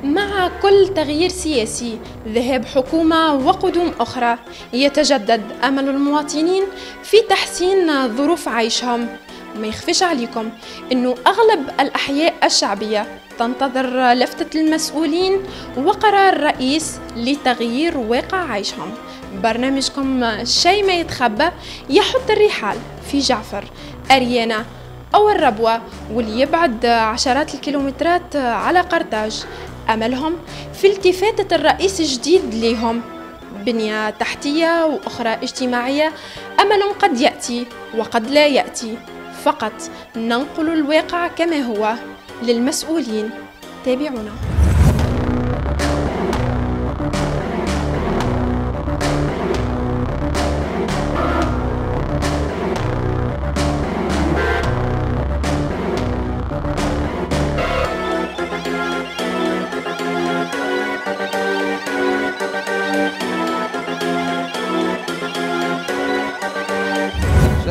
مع كل تغيير سياسي، ذهاب حكومة وقدوم أخرى، يتجدد أمل المواطنين في تحسين ظروف عيشهم. ما يخفيش عليكم أنه أغلب الأحياء الشعبية تنتظر لفتة المسؤولين وقرار الرئيس لتغيير واقع عيشهم. برنامجكم شيء ما يتخبى يحط الرحال في جعفر، أريانا أو الربوة، واللي يبعد عشرات الكيلومترات على قرطاج. أملهم في التفاتة الرئيس الجديد ليهم، بنية تحتية وأخرى اجتماعية، أمل قد يأتي وقد لا يأتي. فقط ننقل الواقع كما هو للمسؤولين. تابعونا.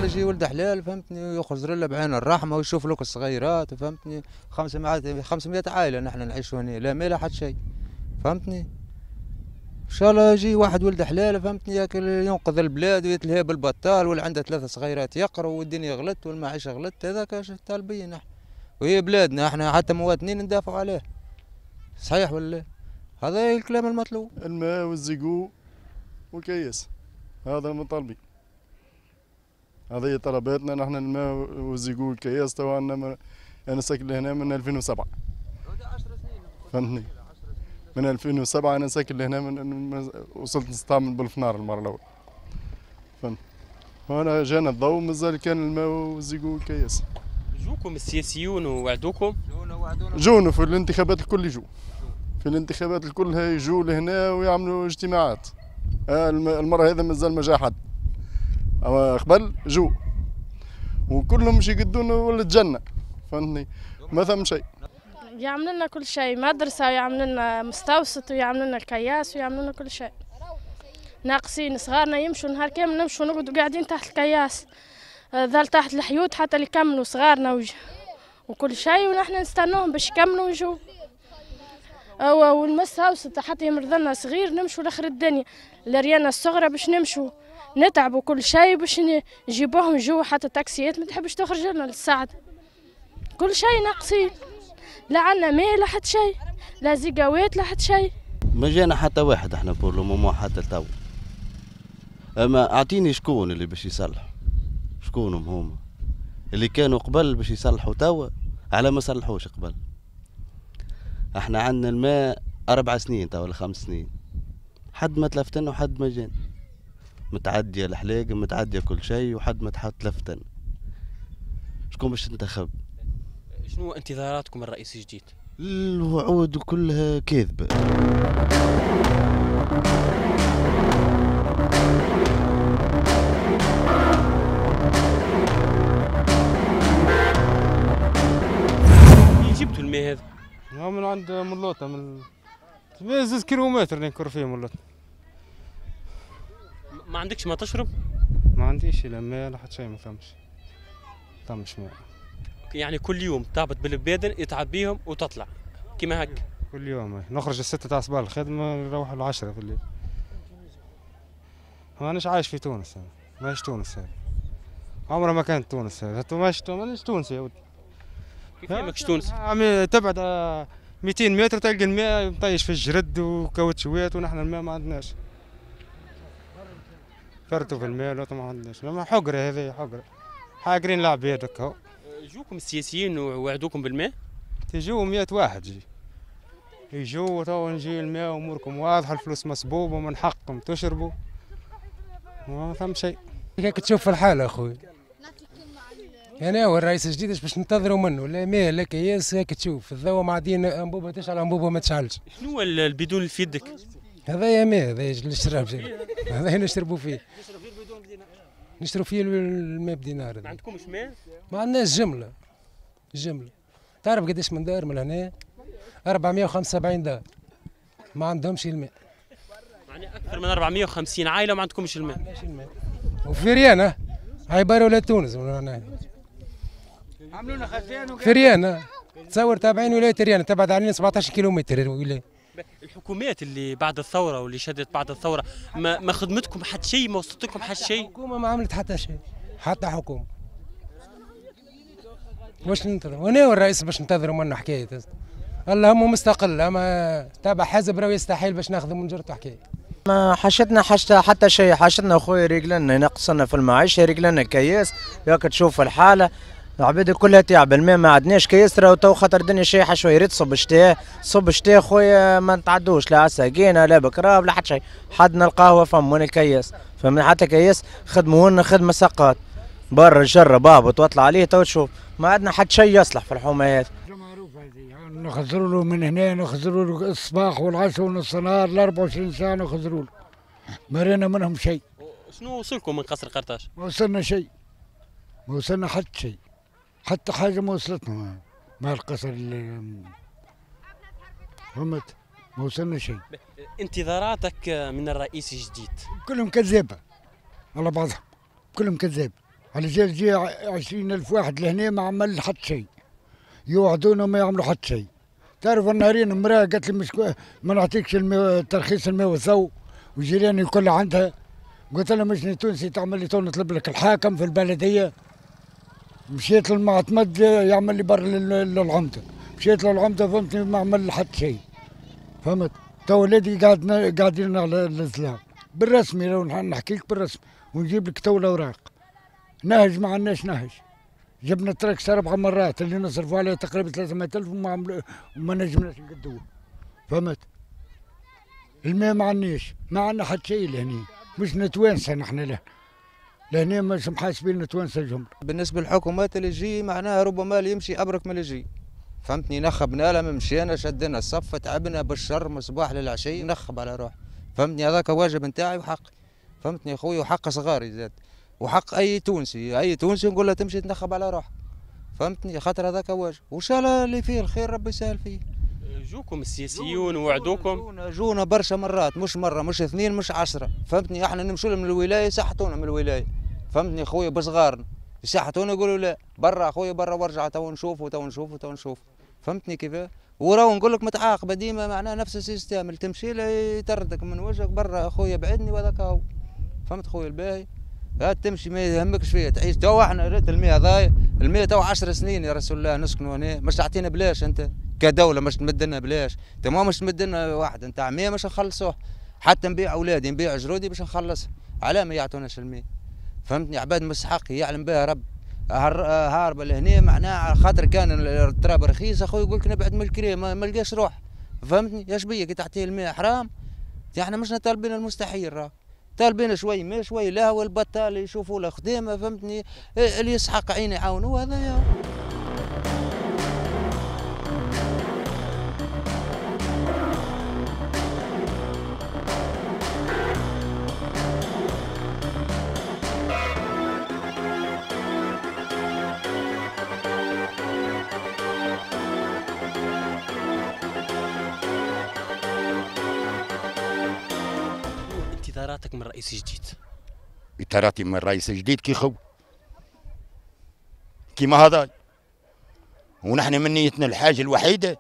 يجي ولد حلال فهمتني، ويخرج له بعين الرحمة ويشوف لك الصغيرات فهمتني. 500 عائلة نحن نعيشوا هنا، لا مال حد شيء فهمتني. ان شاء الله يجي واحد ولد حلال فهمتني، ينقذ البلاد ويتلهي بالبطال، واللي عنده 3 صغيرات يقروا، والدنيا غلت والمعيشه غلت. هذاك اش طالبين نحن، وهي بلادنا احنا حتى مواطنين ندافعوا عليه، صحيح ولا؟ هذا الكلام المطلوب. الماء وال égout والكياس، هذا المطالبين، هذه طلباتنا نحن، الماء وال égout والكياس. توا انا ساكن لهنا من 2007 فهمتني، من 2007 انا ساكن لهنا، من وصلت نستعمل بالفنار المرة الاولى فهمت. وانا جانا الضوء مازال كان الماء وال égout والكياس. جوكم السياسيون ووعدوكم؟ جونا في الانتخابات الكل، يجوا في الانتخابات الكل يجوا لهنا ويعملوا اجتماعات. المرة هذا مازال ما جا حد، أما قبل جو وكلهم مش يقدون ولا الجنة فهمتني، ما ثم شيء. يعمل لنا كل شيء، مدرسة ويعمل لنا مستوسط ويعمل لنا الكياس ويعمل لنا كل شيء. ناقصين صغارنا يمشوا نهار كامل، نمشوا نقعدوا قاعدين تحت الكياس، ظل تحت الحيوط حتى اللي يكملوا صغارنا وكل شيء، ونحن نستنوهم باش يكملوا ويجوا. والمستوسط حتى يمرض لنا صغير نمشوا لاخر الدنيا، الريانة الصغرى باش نمشوا نتعبوا كل شيء باش نجيبوهم جوا، حتى التاكسيات ما تحبش تخرج لنا للسعد. كل شيء ناقصين، لا عندنا ماء لا حتى شيء، لا زيقاوات لا حتى شيء. ما جانا حتى واحد احنا pour le moment حتى تو. اما اعطيني شكون اللي باش يصلح، شكونهم هما اللي كانوا قبل باش يصلحوا توا، على ما صلحوش قبل. احنا عندنا الماء 4 سنين توا ولا 5 سنين، حد ما تلفتنا وحد ما جانا. متعدية الحلاقة، متعدية كل شيء، وحد ما تلفتن. شكون باش تنتخب؟ شنو انتظاراتكم الرئيس الجديد؟ الوعود كلها كاذبة. منين جبتوا الماء هذا؟ من عند ملوطة، من 2 كيلومتر نكر فيه ملوطة. ما عندكش ما تشرب؟ ما عنديش لا ماء لا حتى شيء، ما ثمش ماء. يعني كل يوم تهبط بالبادن تعبيهم وتطلع كيما هكا؟ كل يوم نخرج 6 تاع الصباح الخدمة، نروح 10 في الليل. مانيش عايش في تونس أنا، ماهيش تونس هذه، عمرها ما كانت تونس هذه، مانيش تونسي يا ولدي. كيف ماكش تونسي؟ تبعد 200 متر تلقى الماء مطيش في الجرد وكاوتشوات، ونحن الماء ما عندناش. فرتوا في الماء لا ما عندناش، حقرة هذه، حقرة، حاقرين العباد هكا. جوكم السياسيين ووعدوكم بالماء؟ تجوا 100 واحد جي. يجوا تو نجي الماء اموركم واضحة، الفلوس مسبوبة ومن حقكم تشربوا. ما ثم شيء. هيك تشوف الحالة اخوي. انا هو الرئيس الجديد اش باش ننتظروا منه؟ لا ماء لا كياس، هيك تشوف الضوء معدين انبوبة تشعل انبوبة ما تشعلش. شنو البدون اللي في يدك؟ هذايا ماء، هذايا الشراب، هذايا نشربوا فيه. نشرب فيه الماء بدينار. ما عندكمش ماء؟ ما عندناش جملة. جملة. تعرف قداش من دار من هنا؟ 475 دار. ما عندهمش الماء. يعني أكثر من 450 عائلة ما عندكمش الماء. ما عندناش الماء. وفي ريانة عبارة ولا تونس من هنا. عملوا لنا خزان في ريانة. تصور تابعين ولاية ريانا، تبعد علينا 17 كيلومتر الولاية. الحكومات اللي بعد الثورة واللي شدت بعد الثورة ما خدمتكم حتى شيء، ما وصلت لكم حتى شيء؟ الحكومة ما عملت حتى شيء، حتى حكومة. واش ننتظر؟ وانا الرئيس باش ننتظروا منه حكاية؟ اللهم مستقل، اما تابع حزب راه يستحيل باش ناخذ من جرته حكاية. ما حشتنا حتى شيء، حشتنا خويا رجلنا ينقصنا في المعيشة، رجلنا كياس، ياك تشوف الحالة العباد كلها تعب، الماء ما عندناش كياس راهو تو خاطر الدنيا شايحه شوية، ريت صب شتاء صب شتاء خويا ما نتعدوش لا عساقينا لا بكراب لا حتى شيء، حدنا القهوة فم وين الكياس، فمن حتى كياس خدموا لنا خدمة سقاط برا جرب اهبط واطلع عليه تو تشوف، ما عندنا حتى شيء يصلح في الحومه هذه. نخزروا له من هنا، نخزروا له الصباح والعشاء ونص النهار، ال 24 ساعة نخزروا له، ما رينا منهم شيء. شنو وصلكم من قصر قرطاج؟ ما وصلنا شيء، ما وصلنا حتى شيء، حتى حاجة ما وصلتنا مع القصر. فهمت؟ ما وصلنا شيء. انتظاراتك من الرئيس الجديد؟ كلهم كذابه على بعضهم، كلهم كذاب. على جال جي 20,000 واحد لهنا ما عمل حتى شيء، يوعدونا ما يعملوا حتى شيء. تعرف النهارين امراة قالت لي مش ما نعطيكش ترخيص الماء والضوء، وجيراني الكل عندها. قلت لها مش تونسي تعمل لي تو نطلب لك الحاكم في البلدية. مشيت للمعتمد يعمل لي بر للعمده، مشيت للعمده فهمتني ما عمل حتى شيء. فهمت؟ تو ولادي قاعدين على الزلام بالرسمي، لو نحكي لك بالرسمي ونجيب لك تو الاوراق. نهج ما عندناش نهج، جبنا تراكس 4 مرات اللي نصرفوا عليه تقريبا 300,000 وما نجمناش نقدوه. فهمت؟ الماء ما عندناش، ما عندنا حتى شيء لهني، مش نتوانسه نحن له لهنا، مش محاسبين نتوانسه الجملة. بالنسبة للحكومات اللي تجي معناها ربما اللي يمشي ابرك من اللي يجي. فهمتني؟ نخبنا لها مشينا شدنا الصف تعبنا بالشر من الصباح للعشيه نخب على روح. فهمتني؟ هذاك واجب نتاعي وحقي. فهمتني خويا؟ وحق صغاري زاد، وحق اي تونسي، اي تونسي نقول له تمشي تنخب على روحك. فهمتني؟ خاطر هذاك واجب، وان شاء الله اللي فيه الخير ربي يسهل فيه. جوكم السياسيون ووعدوكم؟ جونا برشا مرات، مش مرة مش اثنين مش 10. فهمتني؟ احنا نمشوا لهم من الولاية يسحتونا من الولاية. فهمتني خويا؟ بصغارنا يسحتونا يقولوا لا برا خويا برا وارجع تو نشوفوا تو نشوفوا تو نشوف. فهمتني كيف؟ وراو نقول لك متعاقبه ديما، معناها نفس ال système اللي تمشي له يطردك من وجهك برا خويا بعدني وهذاك هو. فهمت خويا الباهي؟ هات تمشي ما يهمكش فيها تعيش. تو احنا ريت الماء هذايا، الماء تو 10 سنين يا رسول الله نسكنوا هنا، مش تعطينا بلاش انت كدولة، مش تمد لنا بلاش، انت ما مش تمد لنا واحد نتاع 100 مش نخلصوه، حتى نبيع اولادي نبيع جرودي باش نخلصها، علاه ما يعطوناش الماء؟ فهمتني؟ عباد مستحق يعلم بها رب، هاربه لهنا معناها خاطر كان التراب رخيص اخوي يقول لك نبعد من الكريم ما لقاش روح. فهمتني؟ يا شبيه كي تعطيه الماء حرام، احنا مش طالبين المستحيل، راه طالبين شوي ما شوي لا هو البطال يشوفوا له خدمة. فهمتني؟ اللي يسحق عيني يعاونوه هذا يا. انتظاراتك من الرئيس الجديد؟ انتظاراتي من الرئيس الجديد كي خو كيما هذا، ونحن من نيتنا الحاجة الوحيدة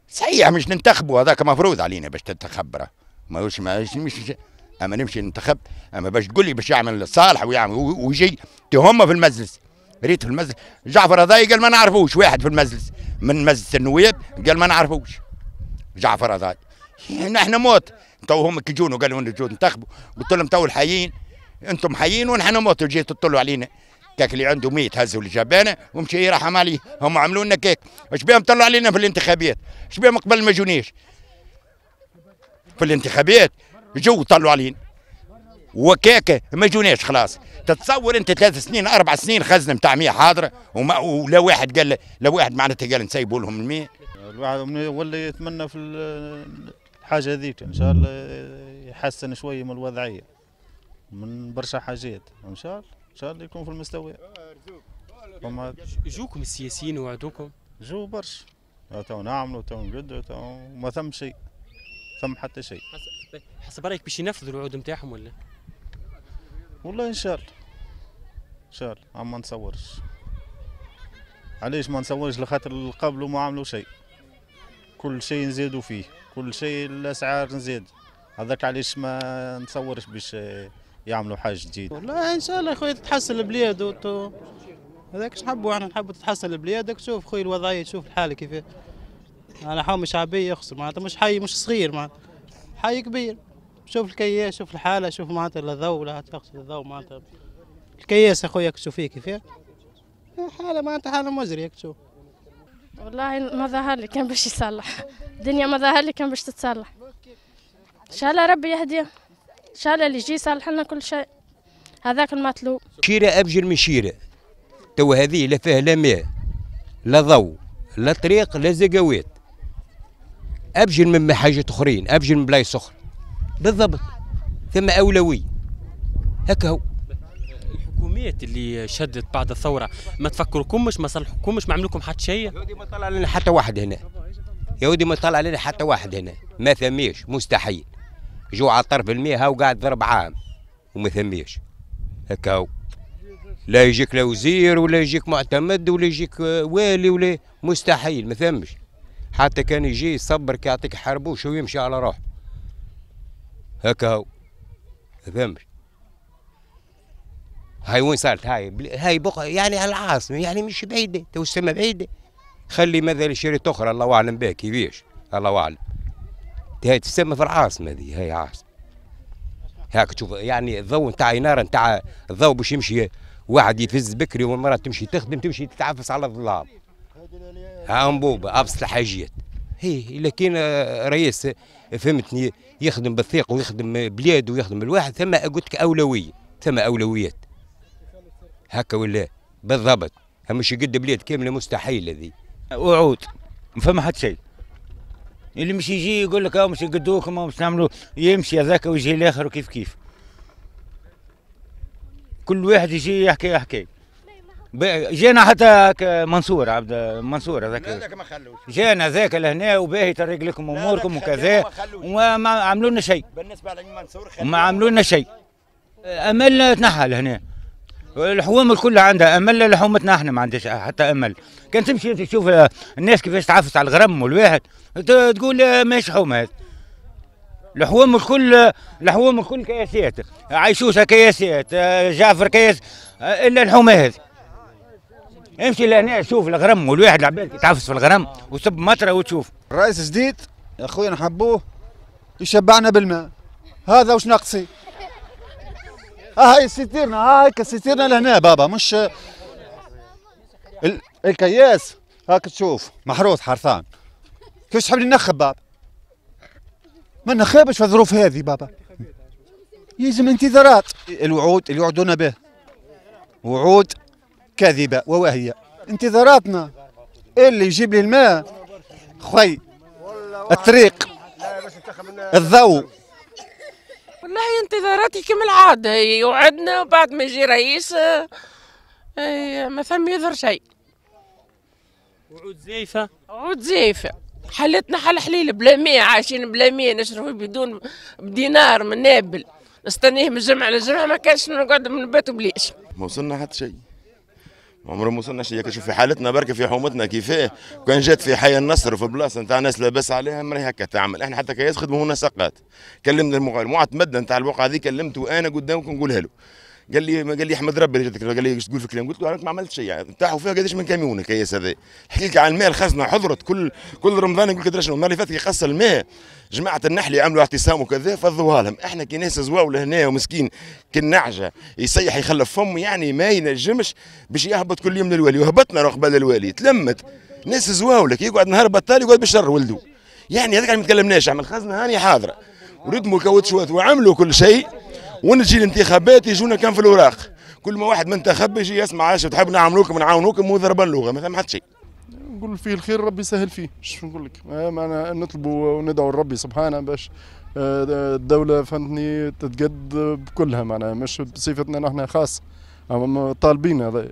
صحيح مش ننتخبوا، هذاك مفروض علينا باش تنتخب راه ماهوش مش اما نمشي ننتخب، اما باش تقول لي باش يعمل صالح ويعمل ويجي هما في المجلس. ريت في المجلس جعفر هذاي قال ما نعرفوش، واحد في المجلس من مجلس النواب قال ما نعرفوش جعفر هذاي، نحن موت. تو هم كي جونوا قالوا نجوا ننتخبوا، قلت لهم تو الحيين انتم حيين ونحن موت، جيتوا تطلوا علينا كاك اللي عنده ميت هزوا الجبانه ومشي يرحم عليه، هم عملوا لنا كيك، اش بهم طلعوا علينا في الانتخابات؟ اش بهم قبل ما جونيش في الانتخابات جو طلعوا علينا وكاكه ما جوناش خلاص. تتصور انت 3 سنين 4 سنين خزنه نتاع 100 حاضره ولا واحد قال لا واحد معناتها قال نسيبوا لهم المية. الواحد ولا يتمنى في الحاجة هذيك ان شاء الله يحسن شوية من الوضعية من برشا حاجات، ان شاء الله ان شاء الله يكون في المستوى. جوكم السياسيين وعدوكم؟ جو برشا، تو نعملوا تو نقدوا تو ما ثم شيء، ثم حتى شيء. حسب رايك باش ينفذوا الوعود نتاعهم ولا؟ والله ان شاء الله ان شاء الله، ما نتصورش. علاش ما نصورش؟ لخاطر اللي قبله ما عملوا شيء، كل شيء نزيدوا فيه، كل شيء الاسعار نزيد، هذاك علاش ما نصورش باش يعملوا حاجة جديدة. والله ان شاء الله خويا تتحسن البلاد هذاك اش نحبوا احنا، نحبوا تتحسن البلاد. تشوف خويا الوضعية، تشوف الحالة كيف. انا حومه شعبية يخسر معناتها، مش حي مش صغير معناتها، حي كبير. شوف الكياس، شوف الحالة، شوف معناتها لا ضوء لا تخسر الضوء معناتها. الكياس اخويا تشوف فيه كيف حاله معناتها، حاله مزرية تشوف. والله ما ظهر لي كان باش يصلح الدنيا، ما ظهر لي كان باش تتصلح. ان شاء الله ربي يهديه، ان شاء الله اللي يجي يصلح لنا كل شيء، هذاك المطلوب. شيره ابجل من شيره، تو هذه لا فيها لا ماء لا ضوء لا طريق لا زقاوات، ابجل من حاجات اخرين، ابجل من بلايص اخرى بالضبط. ثم اولوية هكا هو. الحكومات اللي شدت بعد الثورة ما تفكركمش، ما صلحوكمش، ما عملوكم حتى شيء؟ يا ودي ما طلع لنا حتى واحد هنا، يا ودي ما طلع لنا حتى واحد هنا، ما ثميش، مستحيل. جو على طرف الماء هاو قاعد ضرب عام وما ثميش هكا هو. لا يجيك لا وزير ولا يجيك معتمد ولا يجيك والي ولا، مستحيل ما ثمش. حتى كان يجي يصبرك يعطيك حربوش ويمشي على روحه هكا هو، ما ثمش. هاي وين صارت هاي بقى يعني على العاصمة، يعني مش بعيدة، تو السما بعيدة. خلي مثلا شريط اخرى الله اعلم بها كيفاش، الله اعلم. هاي تسمى في العاصمة هذه، هاي عاصمة. هاك تشوف يعني الضوء نتاع إنارة نتاع الضوء باش يمشي واحد يفز بكري والمرأة تمشي تخدم، تمشي تتعفس على الظلام. ها أنبوبة أبسط الحاجات. هي لكن رئيس فهمتني يخدم بالثقة ويخدم بلاد ويخدم الواحد، ثم قلت لك أولوية، ثم أولويات. هكا ولا بالضبط، مش يقد بلاد كاملة مستحيل هذه. وعود ما فما حتى شيء. اللي مش يجي يقول لك مش يقدوكم مش نعملوا، يمشي هذاك ويجي الاخر وكيف كيف. كل واحد يجي يحكي. جانا حتى منصور عبد منصور هذاك جانا ذاك لهنا وباهي طريق لكم اموركم وكذا، وما عملوا لنا شيء. بالنسبة لمنصور ما عملوا لنا شيء. املنا تنحى لهنا. الحوامل كلها عندها امل، لحومتنا احنا ما عندناش حتى امل. كان تمشي تشوف الناس كيفاش تعفس على الغرم والواحد تقول ماهيش حومه هذه. الحوام الكل، الحوام الكل كياسات، عيشوشه كياسات، جعفر كياس، الا الحومه هذه. امشي لهنا شوف الغرم والواحد العباد تعفس في الغرم وصب مطره وتشوف. الرئيس جديد يا خويا نحبوه يشبعنا بالماء، هذا واش ناقصي. هاي citerne، هاي citerne لهنا بابا، مش الكياس هاك تشوف محروس حرثان. كيفاش تحبني نخب بابا؟ ما نخابش في الظروف هذه بابا. يلزم انتظارات. الوعود اللي وعدونا به وعود كاذبة وواهية. انتظاراتنا اللي يجيب لي الماء خوي، الطريق، الضوء. والله انتظاراتي كما العادة، يوعدنا وبعد ما يجي رئيس ما ثم يظهر شيء. وعود زيفة، وعود زيفة. حالتنا حال حليل، بلا ماء، عايشين بلا ماء، نشربوا بدون بدينار من نابل، نستنيه من جمعة لجمعة، ما كانش نقعد من بيت بليش. ما وصلنا حتى شيء، عمره ما وصلنا شيء. شوف في حالتنا بركة في حومتنا كيفاه، كان جات في حي النصر في بلاصة نتاع ناس لاباس عليها مري هكا تعمل. احنا حتى كياس خدموا لنا سقات. كلمنا المعتمد نتاع الوقعة هذه، كلمته انا قدامكم نقولها له. قال لي احمد ربي اللي جاتك، قال لي ايش تقول في الكلام؟ قلت له انا ما عملت شيء يعني، تاعوا فيها قداش من كاميون الكياس هذا. حكي لك على الماء الخزنة حضرت كل رمضان يقول لك ادري شنو. المرة اللي فاتت يقص الماء جماعة النحل عملوا اعتصام وكذا فضوها لهم. احنا كي ناس زواو لهنا ومسكين كالنعجه يصيح يخلف فم، يعني ما ينجمش باش يهبط كل يوم للوالي، وهبطنا قبل الوالي تلمت ناس زواولك يقعد نهار بطال يقعد بالشر ولده. يعني هذاك ما تكلمناش، عمل خزنه هاني حاضره وردموا الكاوتشوات وعملوا كل شيء. ونجي الانتخابات يجونا كان في الاوراق، كل ما واحد منتخب يجي يسمع عاش تحب نعملوكم نعاونوكم وضربا اللغة، ما ثم حتى شيء. نقول فيه الخير ربي يسهل فيه، شو نقول لك؟ معنا نطلبوا وندعو لربي سبحانه باش الدولة فهمتني تتقد بكلها، معناها مش بصفتنا نحن خاص، طالبين هذا.